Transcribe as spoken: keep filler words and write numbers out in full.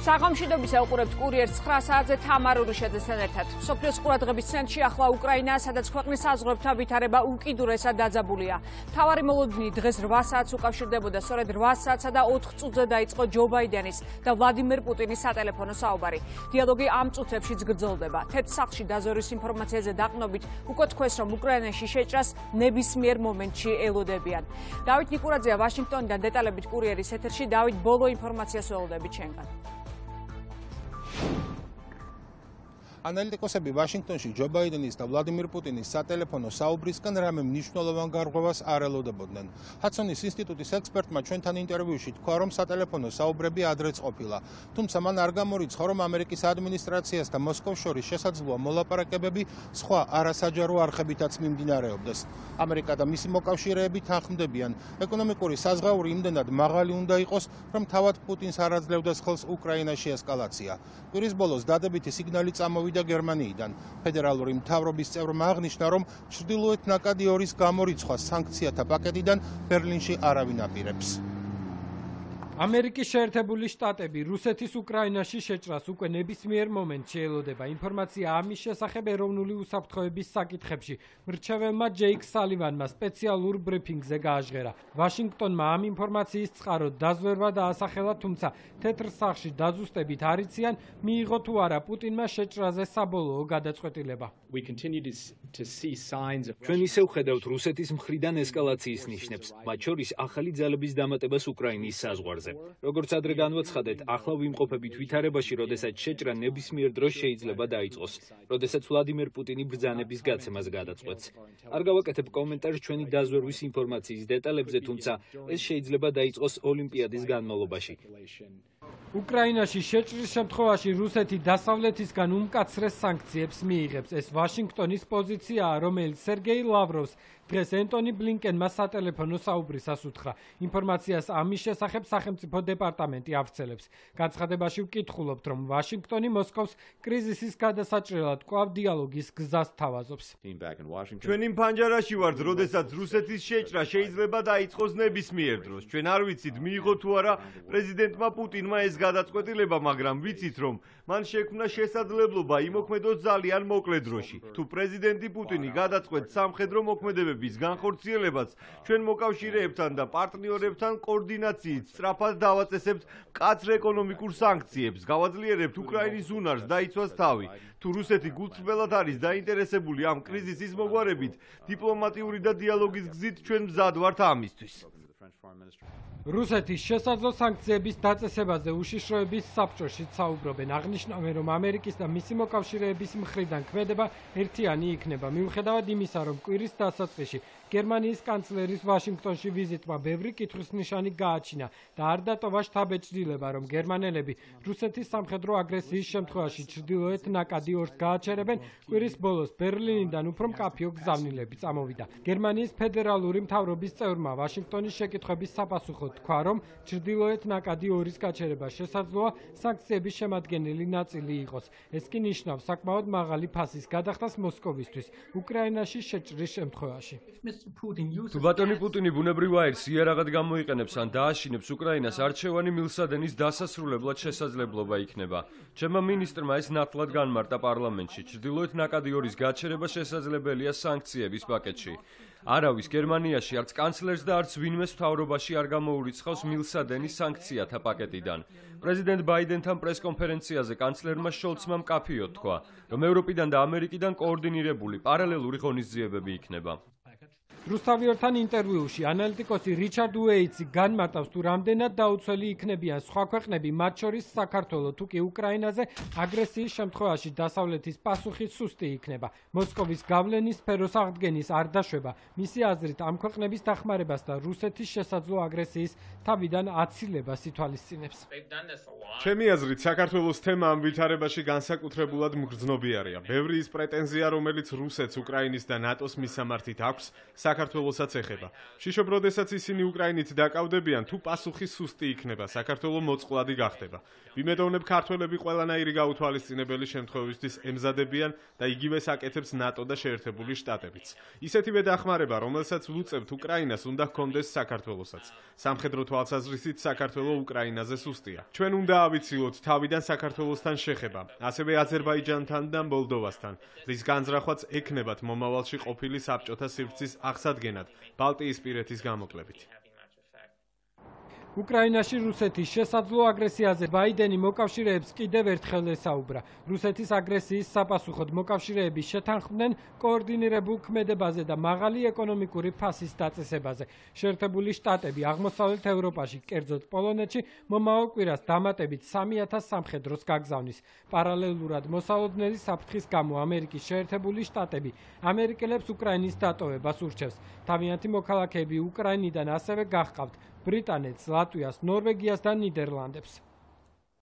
საღამოშიდობის ეყურებთ კურიერს ცხრა საათზე თამარ ურიშაძესთან ერთად. სოფლიოს ყურადღების ცენტრში ახლა უკრაინა, სადაც ქვეყნის საზღვრებთან ვითარება უკიდურესად დაძაბულია. მთავარი მოლოდინი დღეს რვა საათს უკავშირდებოდა, სწორედ რვა საათსა და ოთხ წუთზე დაიწყო ჯო ბაიდენის და ვლადიმერ პუტინის სატელეფონო საუბარი. დიალოგი ამ წუთებშიც გრძელდება. თეთრ სახლში დაზვერვის ინფორმაციაზე დაყნობით უკვე თქვეს, რომ უკრაინაში შეჭრას ნებისმიერ მომენტში ელოდებიან. დავით ნიკურაძეა ვაშინგტონიდან დეტალებით კურიერის ეთერში. დავით, ბოლო ინფორმაციას ველოდებით შენგან. ანალიტიკოსები ვაშინგტონში ჯო ბაიდენის და ვლადიმერ პუტინის სატელეფონო საუბრისგან რამე მნიშვნელოვან გარღვევას არ ელოდებოდნენ. ჰადსონის ინსტიტუტის ექსპერტმა ჩვენთან ინტერვიუში თქვა, რომ სატელეფონო საუბრები ადრეც ყოფილა. თუმცა მან არ გამორიცხა, რომ ამერიკის ადმინისტრაციას და მოსკოვს შორის შესაძლოა მოლაპარაკებები სხვა არასაჯარო არხებითაც მიმდინარეობდეს. ამერიკა და მისი მოკავშირეები თანხმდებიან, ეკონომიკური საზღაური იმდენად მაღალი უნდა იყოს, რომ თავად პუტინს არ აძლევდეს ხელს უკრაინაში ესკალაცია. კვირის ბოლოს დადებითი სიგნალი წამოვიდა და გერმანიიდან. ფედერალური მთავრობის წევრმა აღნიშნა, რომ ჩრდილოეთ ნაკადი ორის გამორიცხვა სანქციათა პაკეტიდან ბერლინში არავინ აპირებს. ამერიკის შეერთებული შტატები რუსეთის უკრაინაში შეჭრას უკვე ნებისმიერ მომენტში ელოდება. ინფორმაცია ამის შესახებ ეროვნული უსაფრთხოების საკითხებში მრჩეველმა ჯეიკ სალივანმა სპეციალურ ბრიფინგზე გააჟღერა. ვაშინგტონმა ამ ინფორმაციის წყაროდ დაზვერვა დაასახელა, თუმცა თეთრ სახლში დაზუსტებით არ იციან, მიიღო თუ არა პუტინმა შეჭრაზე საბოლოო გადაწყვეტილება. ჩვენ ისევ ხედავთ რუსეთის მხრიდან ესკალაციის ნიშნებს, მათ შორის ახალი ძალების დამატებას უკრაინის საზღვარზე. როგორც ადრე განვაცხადეთ, ახლა ვიმყოფებით ვითარებაში, როდესაც შეჭრა ნებისმიერ დროს შეიძლება დაიწყოს, როდესაც ვლადიმერ პუტინი ბრძანების გაცემას გადაწყვეტს. არ გავაკეთებ კომენტარს ჩვენი დაზვერვის ინფორმაციის დეტალებზე, თუმცა ეს შეიძლება დაიწყოს ოლიმპიადის განმავლობაში. უკრაინაში შეჭრის შემთხვევაში რუსეთი დასავლეთისგან უმკაცრეს სანქციებს მიიღებს. ეს ვაშინგტონის პოზიციაა, რომელიც სერგეი ლავროვს დღეს ენტონი ბლინკენმა სატელეფონო საუბრისას უთხრა. ინფორმაციას ამის შესახებ სახელმწიფო დეპარტამენტი ავრცელებს. განცხადებაში ვკითხულობთ, რომ ვაშინგტონი მოსკოვს კრიზისის გადასაჭრელად კვლავ დიალოგის გზას თავაზობს. ჩვენი ფანჯარაში ვართ, როდესაც რუსეთის შეჭრა შეიძლება დაიწყოს ნებისმიერ დროს. ჩვენ არ ვიცით, მიიღო თუ არა პრეზიდენტმა პუტინმა ეს გადაწყვეტილება, მაგრამ ვიცით, რომ მან შექმნა შესაძლებლობა იმოქმედოს ძალიან მოკლე დროში. თუ პრეზიდენტი პუტინი გადაწყვეტს სამხედრო მოქმედებების განხორციელებაც, ჩვენ მოკავშირეებთან და პარტნიორებთან კოორდინაციით სწრაფად დავაწესებთ მკაცრ ეკონომიკურ სანქციებს, გავაძლიერებთ უკრაინის უნარს დაიცვას თავი. თუ რუსეთი გულწრფელად არის დაინტერესებული ამ კრიზისის მოგვარებით, დიპლომატიური და დიალოგის გზით ჩვენ მზად ვართ ამისთვის. რუსეთის შესაძლო სანქციების დაწესებაზე უშიშროების საბჭოში საუბრობენ. აღნიშნავენ, რომ ამერიკის და მისი მოკავშირეების მხრიდან ქმედება ერთიანი იქნება. მიუხედავად იმისა, რომ კვირის დასაწყისში გერმანიის კანცლერის ვაშინგტონში ვიზიტმა ბევრი კითხვის ნიშანი გააჩინა და არ დატოვა შთაბეჭდილება, რომ გერმანელები რუსეთის სამხედრო აგრესიის შემთხვევაში ჩრდილოეთ ნაკადი ორს გააჩერებენ, კვირის ბოლოს ბერლინიდან უფრო მკაფიო გზავნილები წამოვიდა. გერმანიის ფედერალური მთავრობის წევრმა ვაშინგტონის შეკითხვების საპასუხოდ თქვა, რომ ჩრდილოეთ ნაკადი ორის გაჩერება შესაძლოა სანქციების შემადგენელი ნაწილი იყოს. ეს კი ნიშნავს საკმაოდ მაღალი ფასის გადახდას მოსკოვისთვის უკრაინაში შეჭრის შემთხვევაში. თუ ბატონი პუტინი ბუნებრივ აირს იარაღად გამოიყენებს ან დააშინებს უკრაინას, არჩევანი მილსადენის დასასრულებლად შესაძლებლობა იქნება. ჩემმა მინისტრმა ეს ნათლად განმარტა პარლამენტში. ჩრდილოეთ ნაკადი ორის გაჩერება შესაძლებელია სანქციების პაკეტში. არავის გერმანიაში არც კანცლერს და არც ვინმეს მთავრობაში არ გამოურიცხავს მილსადენის სანქციათა პაკეტიდან. პრეზიდენტ ბაიდენთან პრესკონფერენციაზე კანცლერმა შოლცმა მკაფიოდ თქვა, რომ ევროპიდან და ამერიკიდან კოორდინირებული პარალელური ღონისძიებები იქნება. რუსთავიორთან ინტერვიუში ანალიტიკოსი რიჩარდ უეიტსი განმარტავს, თუ რამდენად დაუცველი იქნებიან სხვა ქვეყნები, მათ შორის საქართველო, თუ კი უკრაინაზე აგრესიის შემთხვევაში დასავლეთის პასუხი სუსტი იქნება. მოსკოვის გავლენის სფეროს აღდგენის არ დაშვება. მისი აზრით, ამ ქვეყნების დახმარებას და რუსეთის შესაძლო აგრესიის თავიდან აცილებას ითვალისწინებს. ჩემი აზრით, საქართველოს თემა ამ ვითარებაში განსაკუთრებულად მგრძნობიარეა. ბევრი ის პრეტენზია, რომელიც რუსეთს უკრაინის და ნატოს მისამართით აქვს, საქართველოსაც ეხება. Შიშობ, როდესაც ისინი უკრაინით დაკავდებიან, თუ პასუხი სუსტი იქნება, საქართველო მოწყვლადი გახდება. ვიმედოვნებ, ქართველები ყველანაირი გაუთვალისწინებელი შემთხვევისთვის ემზადებიან და იგივე საკეთებს ნატო და შეერთებული შტატებიც. ისეთივე დახმარება, რომელსაც ვუწევთ უკრაინას, უნდა ჰქონდეს საქართველოსაც. სამხედრო თვალსაზრისით საქართველო უკრაინაზე სუსტია. ჩვენ უნდა ავიცილოთ თავიდან საქართველოსთან შეხება, ასევე აზერბაიჯანთან და მოლდოვასთან, რის განზრახვაც ექნებათ მომავალში ყოფილი საბჭოთა სივრცის აღსადგენად ბალტიისპირეთის გამოკლებით. უკრაინაში რუსეთის შესაძლო აგრესიაზე ბაიდენი მოკავშირეებს კიდევ ერთხელ ესაუბრა. რუსეთის აგრესიის საპასუხოდ მოკავშირეები შეთანხმდნენ კოორდინირებულ ქმედებაზე და მაღალი ეკონომიკური ფასის დაწესებაზე. შეერთებული შტატები აღმოსავლეთ ევროპაში, კერძოდ პოლონეთში, მომავალ კვირას დამატებით სამი ათას სამხედროს გაგზავნის. პარალელურად მოსალოდნელი საფრთხის გამო ამერიკის შეერთებული შტატები ამერიკელებს უკრაინის დატოვებას ურჩევს. თავიანთი მოქალაქეები უკრაინიდან ასევე გაჰყავთ ბრიტანეთს, ლატვიას, ნორვეგიას და ნიდერლანდებს.